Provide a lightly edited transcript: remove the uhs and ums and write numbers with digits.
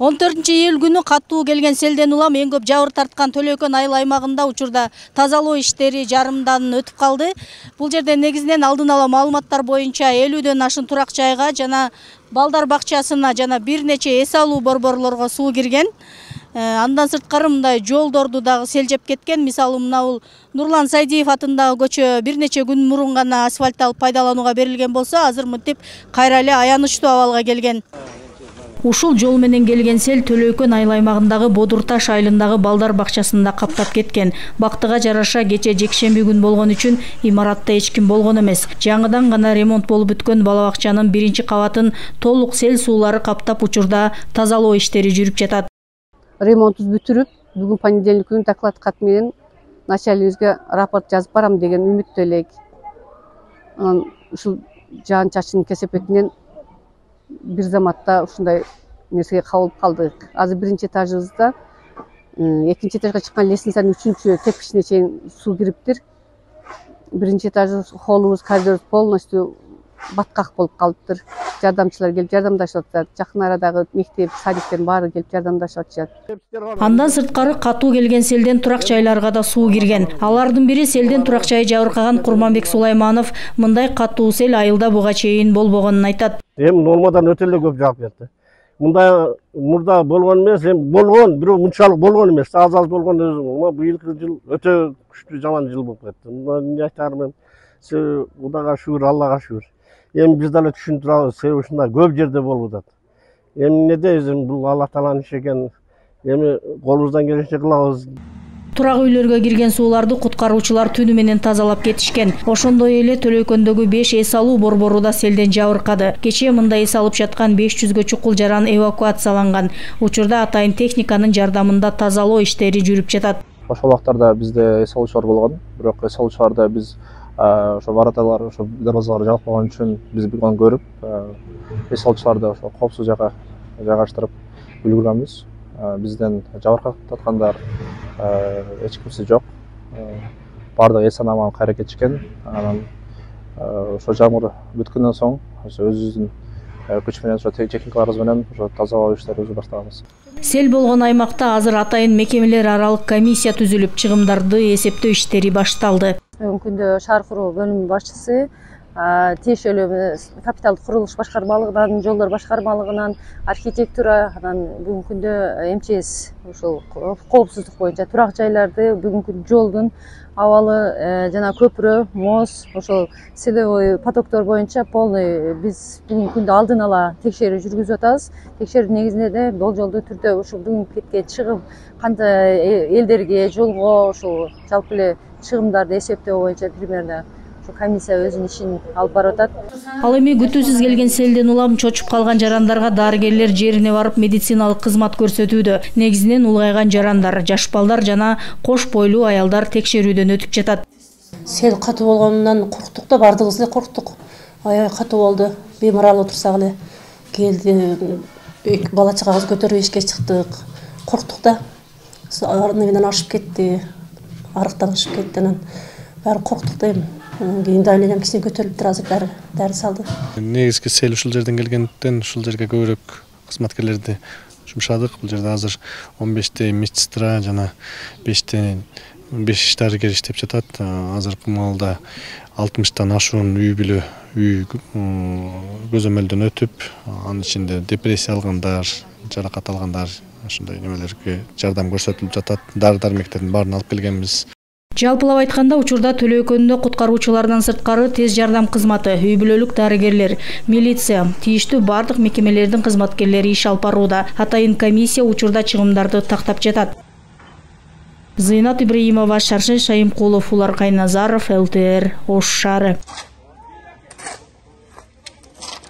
14-июль күнү катуу келген селден улам эң көп жабыр тарткан Төлөкөн айыл аймагында учурда тазалоо иштери жарымдан өтүп калды. Бул жерде негизинен алдын ала маалыматтар боюнча 50ден ашын турак жайга жана балдар бакчасына жана бир нече эс алуу борборлорго суу кирген. Андан сырткары мындай жолдорду дагы сел жеп кеткен. Мисалы мына бул Нурлан Сайдиев атындагы көчө бир нече күн мурун гана асфальтталып пайдаланууга берилген болсо, азыр мынтип кайра эле аянычтуу абалга келген. Ушул жол менен келген сел Төлөкөн айыл аймагындагы Бодурташ айылындагы балдар бакчасында каптап кеткен. Бактыга жараша кече жекшемби күн болгон үчүн имаратта эч ким болгон эмес. Жаңыдан гана ремонт болуп бүткөн бала бакчанын биринчи кабатын толук сел суулары каптап учурда тазалоо иштери жүрүп жатат. Ремонтубуз бүтүрүп, бүгүн понедельник күнү доклад кат менен начальнигибизге рапорт жазып барам деген үмүттө элек. Анан ушул жаан чачын кесепетинен бир заматта ушундай нерсеге кабылып калдык. Азыр биринчи этажыбызда, экинчи этажга чыккан лестницанын 3-чү тепкичине чейин суу кириптир. Биринчи этажыбыз, холлубуз, коридорубуз полностью баткак болуп калыптыр. Жардамчылар келип жардамдашып атышат. Жакын арадагы мектеп, садиктердин баары келип жардамдашып атышат. Андан сырткары катуу келген селден турак жайларга да суу кирген. Алардын бири селден турак жайы жабыркаган Курманбек Сулайманов мындай катуу сел айылда буга чейин болбогонун айтат. Эми нормадан өтө эле көп жаап кетти. Мындай мурда болгон эмес, эми болгон, бирок мынчалык болгон эмес, аз болгон. Быйылкы жыл өтө күчтүү жаман жыл болуп кетти. Эмне айтарым мен? Кудайга шүгүр, Аллага шүгүр. Эми биз дагы түшүнүп турабыз, себеби ушундай көп жерде болуп атат. Эми эмне дейбиз, бул Алла Тааланын иши экен. Эми колубуздан келишинче кылабыз. Турак үйлөргө кирген сууларды куткаруучулар түнү менен тазалап кетишкен. Ошондой эле Төлөкөндөгү 5 эс алуу борбору да селден жабыркады. Кечээ мындай эс алып жаткан 500гө чукул жаран эвакуацияланган. Учурда атайын техниканын жардамында тазалоо иштери жүрүп жатат. Ошол убактарда бизде эс алуучулар болгон, бирок эс алуучуларды биз ошо вороталар, ошо дарбазалар жабык болгон үчүн биз буну көрүп, эс алуучуларды ошо коопсуз жакка жайгаштырып үлгүргөнбүз. Бизден жабыркаткандар эч кимси жок. Баардыгы эс аман кайра кетишкен. Анан ошо жамгыр бүткөндөн соң өзүбүздүн күч менен, ошо техникаларыбыз менен ошо тазалоо иштерибизди баштаганбыз. Сел болгон аймакта азыр атайын мекемелер аралык комиссия түзүлүп, чыгымдарды эсептөө иштери башталды. Бүгүнкү күндө шаар куруу бөлүмүнүн башчысы тиешелүү капиталдык курулуш башкармалыгынан, жолдор башкармалыгынан, архитектура, анан бүгүнкү күндө МЧС ушул коопсуздук боюнча турак жайларды, бүгүнкү жолдун абалы жана көпүрө, моз, ошол селевой потоктор боюнча полный биз бүгүнкү күндө алдын ала текшерүү жүргүзүп атабыз. Текшерүү негизинде болжолдуу түрдө ушул бүгүнкү кеткен чыгым кандай элдерге, жолго ушул жалпы эле чыгымдарды эсептөө боюнча примерно комиссия өзүнүн ишин алып барып атат. Ал эми күтүүсүз келген селден улам чочуп калган жарандарга дарыгерлер жерине барып медициналык кызмат көрсөтүүдө. Негизинен улгайган жарандар, жаш балдар жана кош бойлуу аялдар текшерүүдөн өтүп жатат. Сел катуу болгонунан корктук да, бардыгыбыз эле корктук. Аябай катуу болду. Бемар алып отурсак эле келди. Бала чагабызды көтөрүп эшикке чыктык. Корктук да. Арнынан ашып кетти. Арыктан ашып кетти. Анан баары корктук да эми. Кийин давлением кичине көтөрүлүптүр, азыр дары салды. Негизги сел ушул жерден келгендиктен ушул жерге көбүрөөк кызматкерлерди жумшадык. Бул жерде азыр 15 медсестра жана 5 дарыгер иштеп жатат. Азыркы маалда 60тан ашуун үй бүлө көзөмөлдөн өтүп, анын ичинде депрессия алгандар, жаракат алгандар, ошондой немелерге жардам көрсөтүлүп жатат. Дары-дармектердин баарын алып келгенбиз. Жалпылап айтканда учурда Төлөкөндө куткаруучулардан сырткары тез жардам кызматы, үй бүлөлүк дарыгерлер, милиция, тийиштүү бардык мекемелердин кызматкерлери иш алып барууда. Атайын комиссия учурда чыгымдарды тактап жатат. Зыйнат Ибраимова, Шаршен Шайымкулов, Улар Кайназаров, ЛТР, Ош шаары.